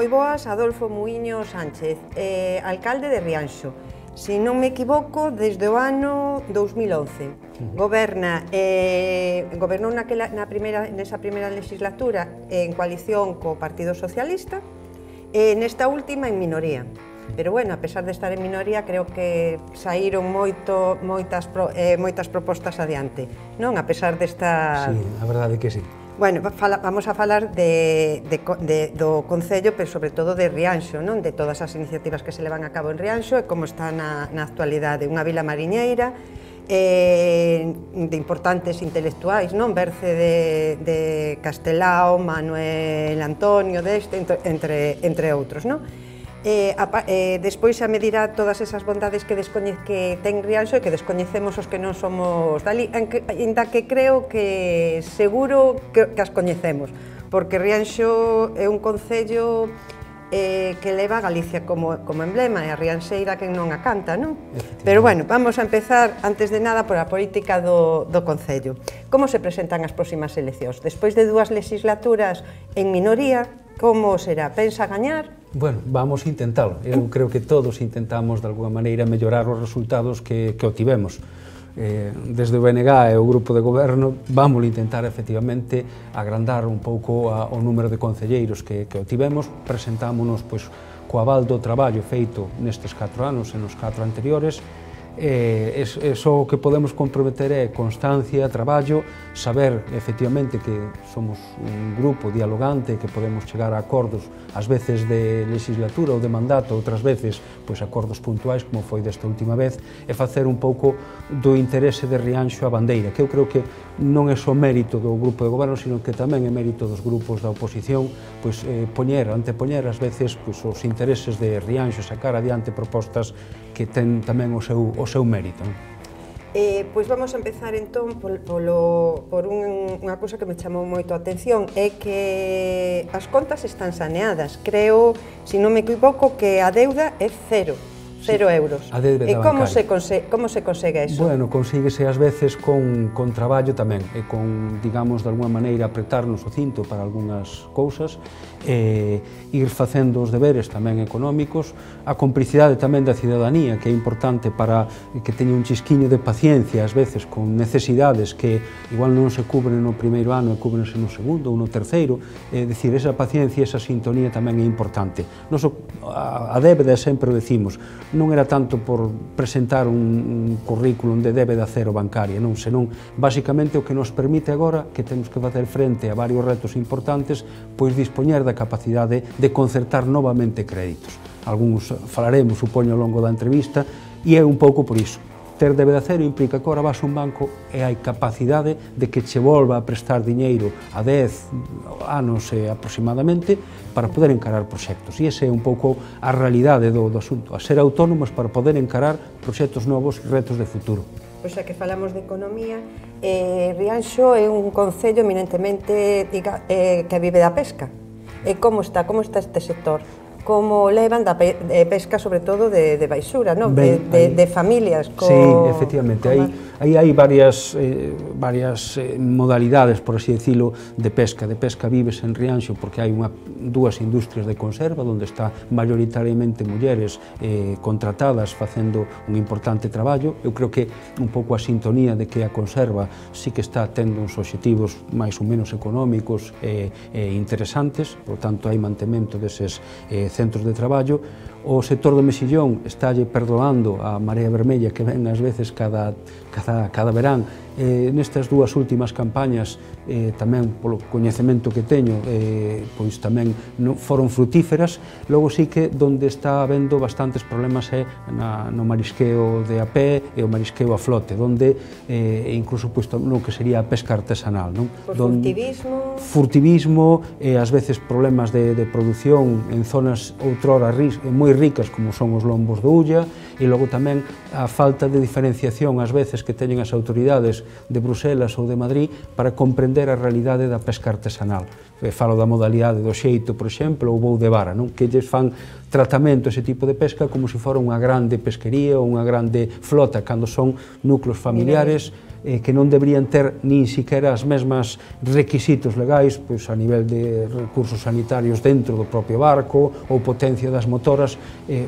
moi boas, Adolfo Muiño Sánchez, alcalde de Rianxo. Se non me equivoco, desde o ano 2011. Gobernou nesa primeira legislatura en coalición co Partido Socialista e nesta última en minoría. Pero, bueno, a pesar de estar en minoría, creo que saíron moitas propostas adiante, non? A pesar desta... Sí, a verdade que sí. Bueno, vamos a falar do Concello, pero sobre todo de Rianxo, non? De todas as iniciativas que se levan a cabo en Rianxo e como está na actualidade. Unha vila mariñeira de importantes intelectuais, non? Berce de Castelao, Manuel Antonio deste, entre outros, non? Despois xa me dirá todas esas bondades que ten Rianxo e que descoñecemos os que non somos dali, ainda que creo que seguro que as coñecemos, porque Rianxo é un concello que leva a Galicia como emblema, e a rianxeira que non a canta, non? Pero, bueno, vamos a empezar, antes de nada, por a política do Concello. Como se presentan as próximas eleccións? Despois de 2 legislaturas en minoría, como será? Pensa gañar? Bueno, vamos a intentalo. Eu creo que todos intentamos, de alguma maneira, mellorar os resultados que obtivemos. Desde o BNG e o grupo de goberno vamos a intentar, efectivamente, agrandar un pouco o número de concelleiros que obtivemos. Presentámonos co aval do traballo feito nestes 4 anos e nos 4 anteriores. Só o que podemos comprometer é constancia, traballo, saber efectivamente que somos un grupo dialogante, que podemos chegar a acordos ás veces de legislatura ou de mandato, outras veces acordos puntuais como foi desta última vez, e facer un pouco do interese de Rianxo a bandeira, que eu creo que non é só mérito do grupo de goberno, sino que tamén é mérito dos grupos da oposición, antepoñer ás veces os intereses de Rianxo, sacar adiante propostas que ten tamén o seu mérito. Pois vamos a empezar entón por unha cousa que me chamou moito a atención, é que as contas están saneadas. Creo, se non me equivoco, que a deuda é 0 euros. E como se consegue iso? Bueno, consíguese ás veces con traballo tamén, e con, digamos, de alguma maneira apretarnos o cinto para algunhas cousas, ir facendo os deberes tamén económicos, a complicidade tamén da cidadanía, que é importante para que teña un chisquiño de paciencia, ás veces, con necesidades que igual non se cubren no primeiro ano e cúbrense no segundo ou no terceiro, é dicir, esa paciencia e esa sintonía tamén é importante. A débeda, sempre o decimos, non era tanto por presentar un currículum de débeda cero bancaria, non, senón, basicamente, o que nos permite agora, que temos que facer frente a varios retos importantes, pois dispoñer da capacidade de concertar novamente créditos. Algúns falaremos, supoño, ao longo da entrevista, e é un pouco por iso. Ter débeda cero implica que agora vas a un banco e hai capacidade de que che volva a prestar diñeiro a 10 anos aproximadamente para poder encarar proxectos. E esa é un pouco a realidade do asunto, a ser autónomos para poder encarar proxectos novos e retos de futuro. Pois xa que falamos de economía, Rianxo é un concello eminentemente que vive da pesca. E como está este sector? Como levan da pesca, sobre todo, de baixura, de familias. Sí, efectivamente, aí hai varias modalidades, por así decirlo, de pesca. De pesca vives en Rianxo porque hai 2 industrias de conserva, onde está maioritariamente mulleres contratadas facendo un importante traballo. Eu creo que un pouco a sintonía de que a conserva sí que está tendo uns obxectivos máis ou menos económicos e interesantes, por tanto hai mantemento deses centros de traballo. O sector do mexillón estálle perdoando a marea vermella que ven ás veces cada verán. Nestas 2 últimas campañas, tamén polo coñecemento que teño, pois tamén foron frutíferas. Logo sí que onde está habendo bastantes problemas é no marisqueo de a pé e o marisqueo a flote, onde incluso no que sería a pesca artesanal. Por furtivismo? Furtivismo, ás veces problemas de produción en zonas outrora moi ricas como son os lombos do Ulla, e logo tamén a falta de diferenciación ás veces que teñen as autoridades de Bruselas ou de Madrid para comprender a realidade da pesca artesanal. Falo da modalidade do xeito, por exemplo, ou voo de vara, que lles fan tratamento ese tipo de pesca como se fora unha grande pesquería ou unha grande flota, cando son núcleos familiares que non deberían ter nin siquiera as mesmas requisitos legais pois, a nivel de recursos sanitarios dentro do propio barco ou potencia das motoras,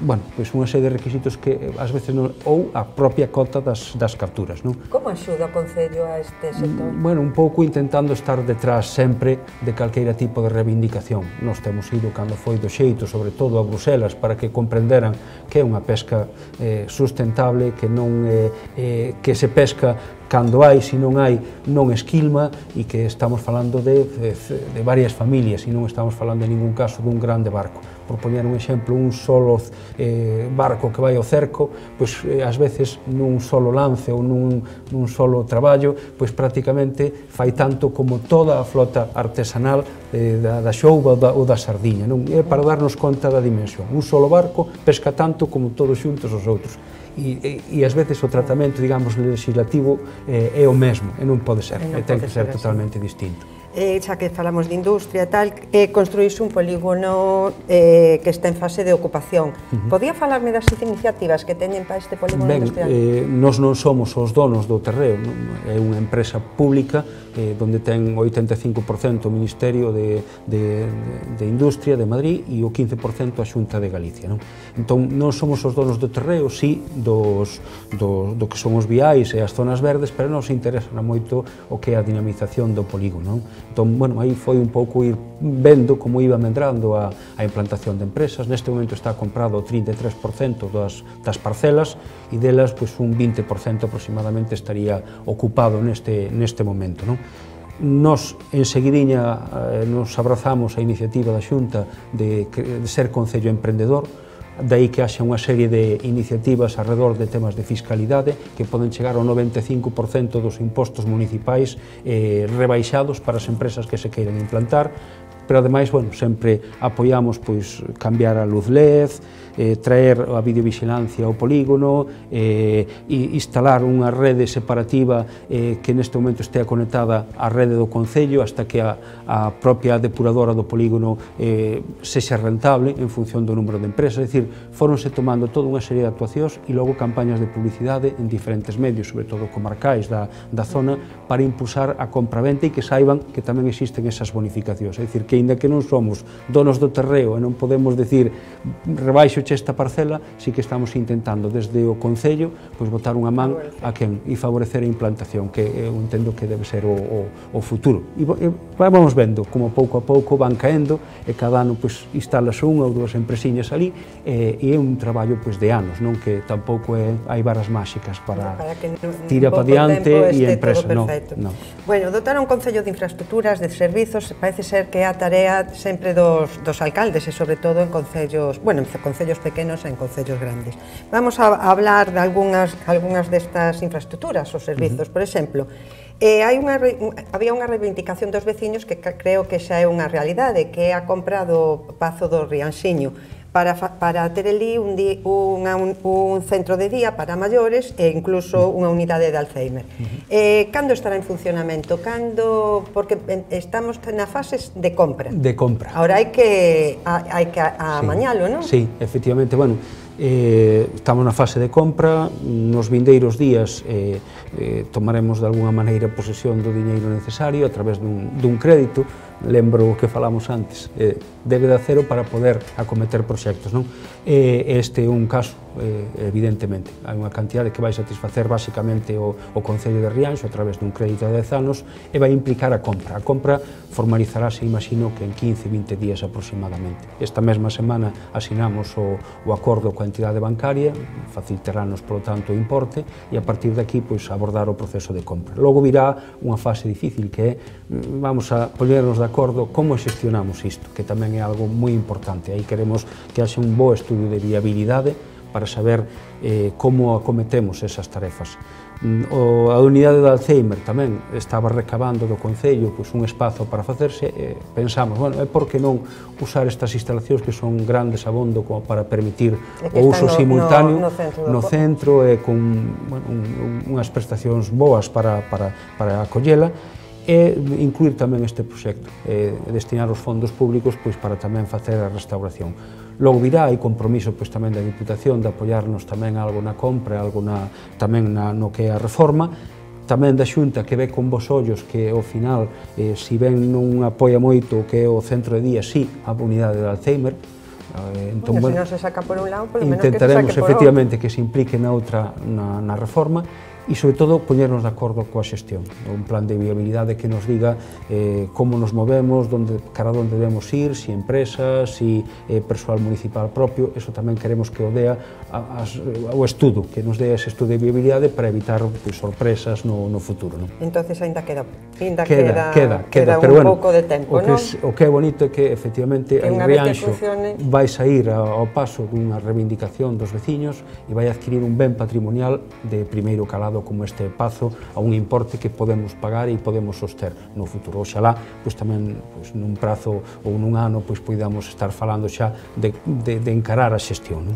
bueno, pois unha serie de requisitos que ás veces non, ou a propia cota das capturas. Non? Como axuda o Concello a este sector? Bueno, un pouco intentando estar detrás sempre de calqueira tipo de reivindicación. Nós temos ido cando foi do xeito, sobre todo a Bruselas, para que comprenderan que é unha pesca sustentable, que non que se pesca cando hai, se non hai, non esquilma e que estamos falando de varias familias e non estamos falando en ningún caso dun grande barco. Por poñer un exemplo, un solo barco que vai ao cerco, pois ás veces nun solo lance ou nun solo traballo, pois prácticamente fai tanto como toda a flota artesanal da xouba ou da sardiña. Non? É para darnos conta da dimensión. Un solo barco pesca tanto como todos xuntos os outros. E ás veces o tratamento, digamos, legislativo é o mesmo, e non pode ser, ten que ser totalmente distinto. Xa que falamos de industria e tal, construíse un polígono que está en fase de ocupación. Podía falarme das iniciativas que teñen para este polígono industrial? Nós non somos os donos do terreo, é unha empresa pública donde ten 85% o Ministerio de Industria de Madrid e o 15% a Xunta de Galicia. Entón, non somos os donos do terreo, sí, do que son os viais e as zonas verdes, pero nos interesa moito o que é a dinamización do polígono. Entón, bueno, aí foi un pouco ir vendo como iba medrando a implantación de empresas. Neste momento está comprado o 33% das parcelas e delas, pois, un 20% aproximadamente estaría ocupado neste momento. Nos, enseguidiña, nos abrazamos a iniciativa da Xunta de ser Concello Emprendedor, daí que haxa unha serie de iniciativas alrededor de temas de fiscalidade que poden chegar ao 95% dos impostos municipais rebaixados para as empresas que se queiran implantar, pero ademais, bueno, sempre apoiamos pois cambiar a luz LED, traer a videovigilancia ao polígono, e instalar unha rede separativa que neste momento estea conectada á rede do Concello hasta que a propia depuradora do polígono sexa rentable en función do número de empresas. É dicir, foronse tomando toda unha serie de actuacións e logo campañas de publicidade en diferentes medios, sobre todo comarcais da zona, para impulsar a compra-venta e que saiban que tamén existen esas bonificacións. É dicir, que aínda que non somos donos do terreo e non podemos decir rebaixo esta parcela, sí que estamos intentando desde o Concello pois botar unha man a quen e favorecer a implantación, que eu entendo que debe ser o futuro. E vamos vendo como pouco a pouco van caendo e cada ano pois instalase unha ou dúas empresiñas ali e é un traballo pois de anos, non que tampouco hai varas máxicas para tira para diante e empresa, non. Bueno, dotar un Concello de infraestructuras, de servizos, parece ser que é a tarea sempre dos alcaldes e sobre todo en concellos, bueno, en concellos pequenos e en concellos grandes. Vamos a hablar de algunhas destas infraestructuras, os servizos, por exemplo. Había unha reivindicación dos veciños que creo que xa é unha realidade, que é a compra do Pazo do Rianxiño, para ter ali un centro de día para maiores e incluso unha unidade de Alzheimer. Cando estará en funcionamento? Porque estamos na fase de compra. De compra. Ahora hai que amañalo, non? Sí, efectivamente, bueno, estamos na fase de compra, nos vindeiros días tomaremos de alguna maneira posesión do diñeiro necesario a través dun crédito. Lembro o que falamos antes, débeda cero para poder acometer proxectos, non? Este é un caso, evidentemente, hai unha cantidade que vai satisfacer basicamente o Concello de Rianxo a través dun crédito de 10 anos e vai implicar a compra. A compra formalizarase, imagino, que en 15-20 días aproximadamente. Esta mesma semana asinamos o acordo coa entidade bancaria, facilitarános, polo tanto, o importe e a partir de aquí, pois, abordar o proceso de compra. Logo virá unha fase difícil que é, vamos a poñernos de acordo como xestionamos isto, que tamén é algo moi importante. Aí queremos que haxe un bo estudio de viabilidade para saber como acometemos esas tarefas. A unidade de Alzheimer tamén estaba recabando do Concello pois, un espazo para facerse e pensamos, bueno, por que non usar estas instalacións que son grandes abondo como para permitir o uso simultáneo no centro e con unhas prestacións boas para acollela e incluir tamén este proxecto, destinar os fondos públicos pois, para tamén facer a restauración. Logo virá, hai compromiso pois, tamén da Diputación de apoiarnos tamén algo na compra, algo tamén no que é a reforma, tamén da Xunta que ve con vos ollos que ao final, si ben non apoia moito o que é o centro de día, sí, a unidade de Alzheimer. Entón, se non se saca por un lado, polo menos que se saque intentaremos por efectivamente que se implique na outra, na reforma, e, sobre todo, poñernos de acordo coa xestión. Un plan de viabilidade que nos diga como nos movemos, cara onde debemos ir, si empresas, si persoal municipal propio. Eso tamén queremos que o dea o estudo, que nos dea ese estudo de viabilidade para evitar sorpresas no futuro. Entonces, ainda queda un pouco de tempo, non? O que é bonito é que, efectivamente, en Rianxo vai sair ao paso dunha reivindicación dos veciños e vai adquirir un ben patrimonial de primeiro calado como este pazo a un importe que podemos pagar e podemos soster no futuro. Oxalá, tamén nun prazo ou nun ano, podamos estar falando xa de encarar a xestión.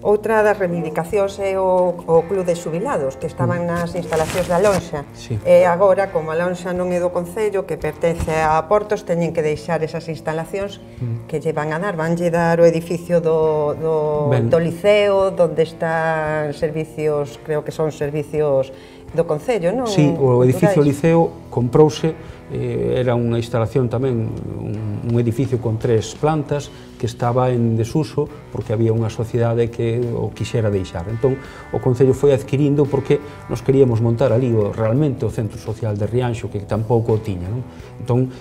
Outra das reivindicacións é o Club de Xubilados, que estaban nas instalacións da Lonxa. E agora, como a Lonxa non é do Concello, que pertence a Portos, teñen que deixar esas instalacións que lle van a dar. Vanlle dar o edificio do Liceo, onde están servicios, creo que son servicios do Concello, non? Sí, o edificio Liceo comprouse, era unha instalación tamén, un edificio con 3 plantas, que estaba en desuso porque había unha sociedade que o quixera deixar. Entón, o Concello foi adquirindo porque nos queríamos montar ali realmente o centro social de Rianxo, que tampouco o tiña. Entón,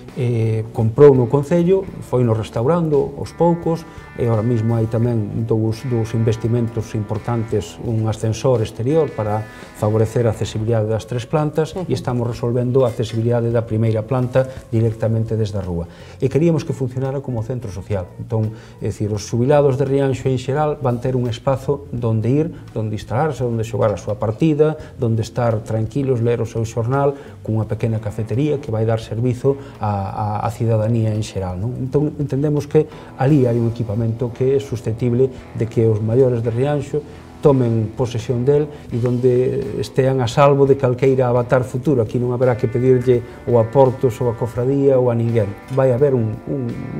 comprou no Concello, foi nos restaurando aos poucos, e ahora mesmo hai tamén dous investimentos importantes, un ascensor exterior para favorecer a accesibilidade das 3 plantas, e estamos resolvendo a accesibilidade da primeira planta directamente desde a rúa. E queríamos que funcionara como centro social. Entón, é dicir, os xubilados de Rianxo en xeral van ter un espazo donde ir, donde instalarse, donde xogar a súa partida, donde estar tranquilos, ler o seu xornal, cunha pequena cafetería que vai dar servizo á cidadanía en xeral. Entón, entendemos que ali hai un equipamento que é susceptible de que os maiores de Rianxo tomen posesión del e donde estean a salvo de calqueira avatar futuro. Aquí non haberá que pedirlle ou a Portos ou a Cofradía ou a ninguén. Vai haber un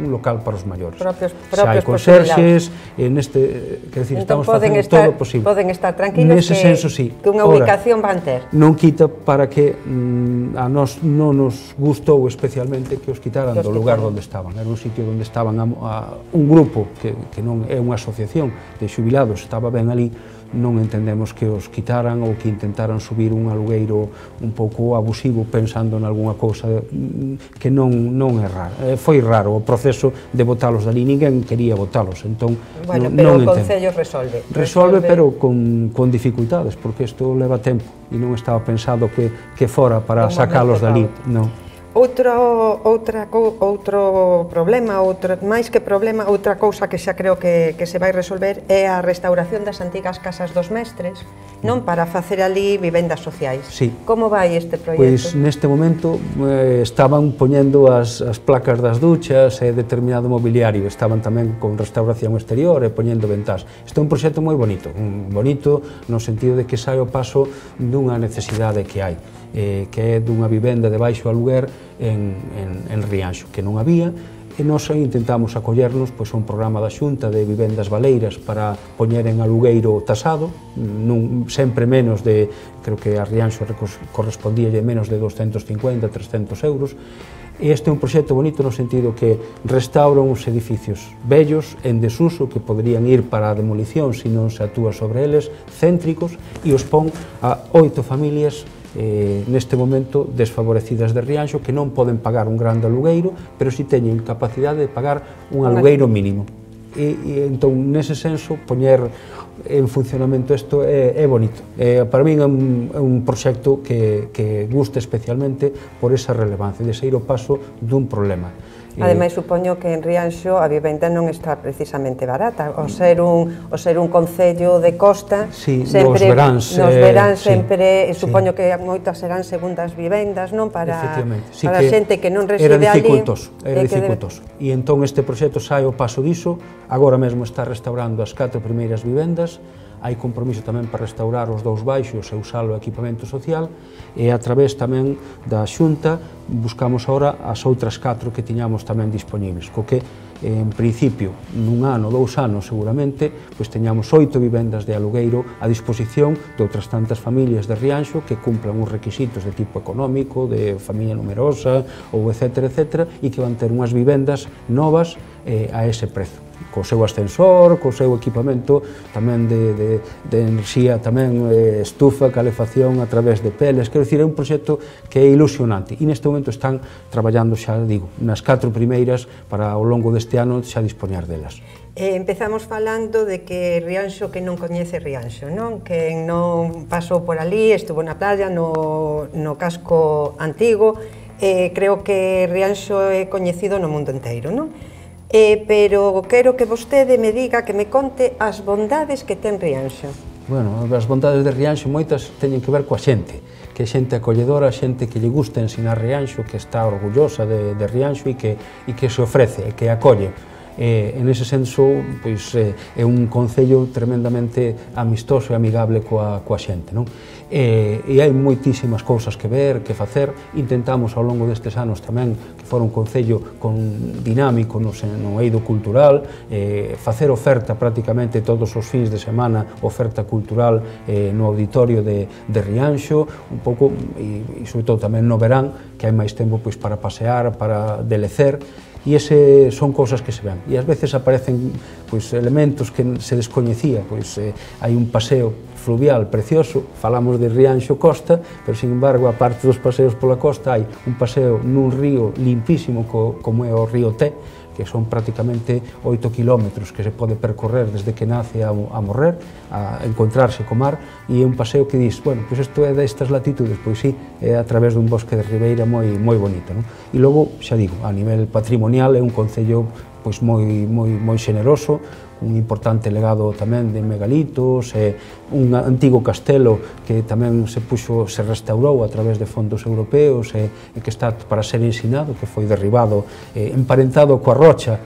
local para os maiores. Xa hai conserxes, estamos facendo todo o posible. Poden estar tranquilos que unha ubicación van ter. Non quita para que a nós non nos gustou especialmente que os quitaran do lugar onde estaban. Era un sitio onde estaban un grupo que non é unha asociación de xubilados, estaba ben ali. Non entendemos que os quitaran ou que intentaran subir un alugueiro un pouco abusivo pensando en algunha cousa que non é raro. Foi raro o proceso de botalos dali, ninguén quería botalos, entón bueno, pero o Concello resolve. Resolve, pero con dificultades, porque isto leva tempo e non estaba pensado que fora para sacalos dali, non. Outro problema, máis que problema, outra cousa que xa creo que se vai resolver é a restauración das antigas casas dos mestres, non, para facer ali vivendas sociais. Como vai este proxecto? Pois neste momento estaban poñendo as placas das duchas e determinado mobiliario, estaban tamén con restauración exterior e poñendo ventás. Isto é un proxecto moi bonito, no sentido de que sai o paso dunha necesidade que hai, que é dunha vivenda de baixo aluguer en Rianxo, que non había, e nós intentamos acollernos a un programa da Xunta de vivendas baleiras para poñer en alugueiro tasado, sempre menos de, creo que a Rianxo correspondíalle menos de 250, 300 euros, e este é un proxecto bonito no sentido que restauran uns edificios vellos, en desuso, que poderían ir para a demolición se non se actúa sobre eles, céntricos, e os pon a 8 familias neste momento desfavorecidas de Rianxo, que non poden pagar un grande alugueiro, pero si teñen capacidade de pagar un alugueiro mínimo. E entón, nese senso, poñer en funcionamento isto é bonito. Para min é un proxecto que gusta especialmente por esa relevancia, de sair o paso dun problema. Ademais, supoño que en Rianxo a vivenda non está precisamente barata. O ser un concello de costa, nos verán sempre, supoño que moitas serán segundas vivendas, non? Para a xente que non reside ali. Era dificultoso. E entón este proxecto sai o paso diso, agora mesmo está restaurando as 4 primeiras vivendas, hai compromiso tamén para restaurar os 2 baixos e usalo o equipamento social, e a través tamén da Xunta buscamos agora as outras 4 que tiñamos tamén disponibles, co que en principio, nun ano, 2 anos seguramente, pois teñamos 8 vivendas de alugueiro a disposición de outras tantas familias de Rianxo que cumplan uns requisitos de tipo económico, de familia numerosa, ou etcétera, etcétera, e que van ter unhas vivendas novas a ese prezo, co seu ascensor, co seu equipamento tamén de enerxía, tamén estufa, calefacción a través de peles. Quero dicir, é un proxecto que é ilusionante e neste momento están traballando, xa digo, nas 4 primeiras para ao longo deste ano xa dispoñar delas. Empezamos falando de que Rianxo, que non coñece Rianxo, non? Que non pasou por ali, estuvo na playa, no casco antigo, creo que Rianxo é coñecido no mundo inteiro, non? Pero quero que vostede me diga, que me conte as bondades que ten Rianxo. Bueno, as bondades de Rianxo moitas teñen que ver coa xente, que é xente acolledora, xente que lle gusta ensinar Rianxo, que está orgullosa de Rianxo e que se ofrece, que acolle. En ese senso, pois, é un concello tremendamente amistoso e amigable coa xente, non? E hai moitísimas cousas que ver, que facer. Intentamos ao longo destes anos tamén que fora un concello dinámico no eido cultural, facer oferta prácticamente todos os fins de semana, oferta cultural no auditorio de Rianxo, un pouco, e sobre todo tamén no verán, que hai máis tempo pois para pasear, para delecer. E ese son cousas que se ven. E ás veces aparecen pois, elementos que se descoñecía. Pois, hai un paseo fluvial precioso, falamos de Rianxo Costa, pero, sin embargo, a parte dos paseos pola costa, hai un paseo nun río limpísimo como é o río Té, que son prácticamente 8 kilómetros que se pode percorrer desde que nace a morrer, a encontrarse co mar, e é un paseo que dis, bueno, pois isto é destas latitudes, pois sí, é a través dun bosque de ribeira moi bonito, non? E logo, xa digo, a nivel patrimonial é un concello pois moi xeneroso, un importante legado tamén de megalitos, un antigo castelo que tamén se restaurou a través de fondos europeos e que está para ser ensinado, que foi derribado, emparentado coa rocha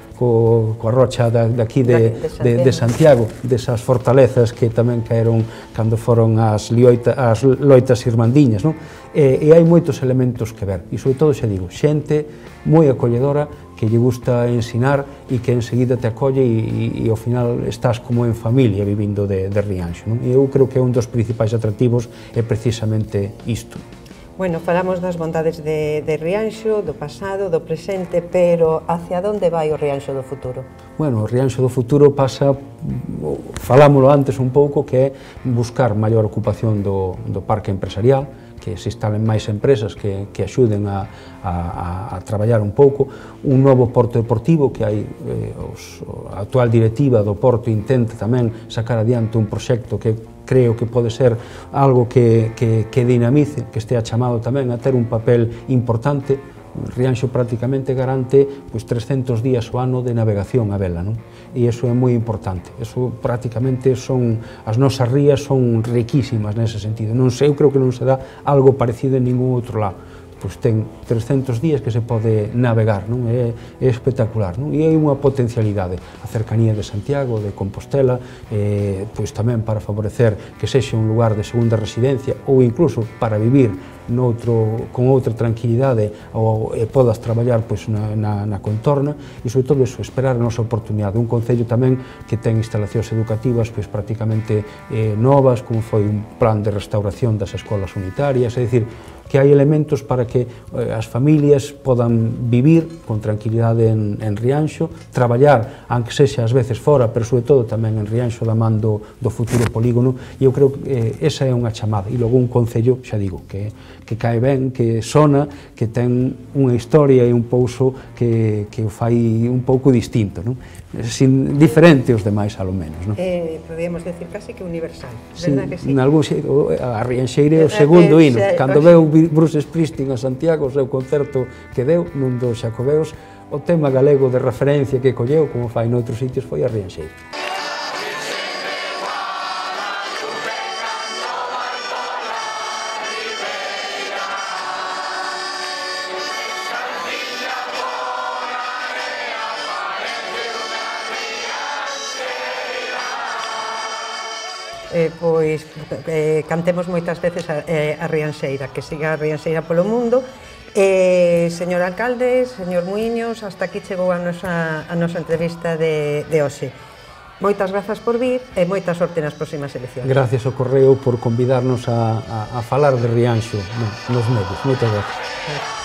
daqui de Santiago, desas fortalezas que tamén caeron cando foron as loitas irmandiñas, non? E hai moitos elementos que ver, e sobre todo, xa digo, xente moi acolledora, que lle gusta ensinar e que enseguida te acolle e ao final estás como en familia vivindo de Rianxo, non? E eu creo que un dos principais atractivos é precisamente isto. Bueno, falamos das bondades de Rianxo, do pasado, do presente, pero hacia onde vai o Rianxo do futuro? Bueno, o Rianxo do futuro pasa, falámoslo antes un pouco, que é buscar maior ocupación do parque empresarial, que se instalen máis empresas que axuden a traballar un pouco, un novo porto deportivo, que hai a actual directiva do porto intenta tamén sacar adiante un proxecto que creo que pode ser algo que dinamice, que estea chamado tamén a ter un papel importante. Rianxo prácticamente garante 300 días ao ano de navegación a vela, non? E iso é moi importante. Iso prácticamente son, as nosas rías son riquísimas nese sentido. Non sei, eu creo que non se dá algo parecido en ningún outro lado. Pois ten 300 días que se pode navegar, non? É espectacular, non? E hai unha potencialidade, a cercanía de Santiago, de Compostela, pois tamén para favorecer que sexa un lugar de segunda residencia ou incluso para vivir con outra tranquilidade ou podas traballar na contorna e, sobre todo, esperar a nosa oportunidade. Un concello tamén que ten instalacións educativas prácticamente novas, como foi un plan de restauración das escolas unitarias, é dicir, que hai elementos para que as familias podan vivir con tranquilidade en Rianxo, traballar, aunque sexa ás veces fora, pero sobre todo tamén en Rianxo da man do futuro polígono, e eu creo que esa é unha chamada. E logo un concello, xa digo, que cae ben, que sona, que ten unha historia e un pouso que o fai un pouco distinto, non? Diferente aos demais, alo menos, non? Podríamos decir casi que universal, verdad que sí? A Rianxeira é o segundo hino. Cando veu Bruce Springsteen a Santiago, o seu concerto que deu nun dos Xacobeos, o tema galego de referencia que colleu, como fai noutros sitios, foi a Rianxeira. Pois cantemos moitas veces a Rianxeira, que siga a Rianxeira polo mundo, Señor alcalde, señor Muiños, hasta aquí chegou a nosa entrevista de hoxe. Moitas grazas por vir e moita sorte nas próximas eleccións. Gracias ao Correo por convidarnos a falar de Rianxo nos medios. Moitas grazas.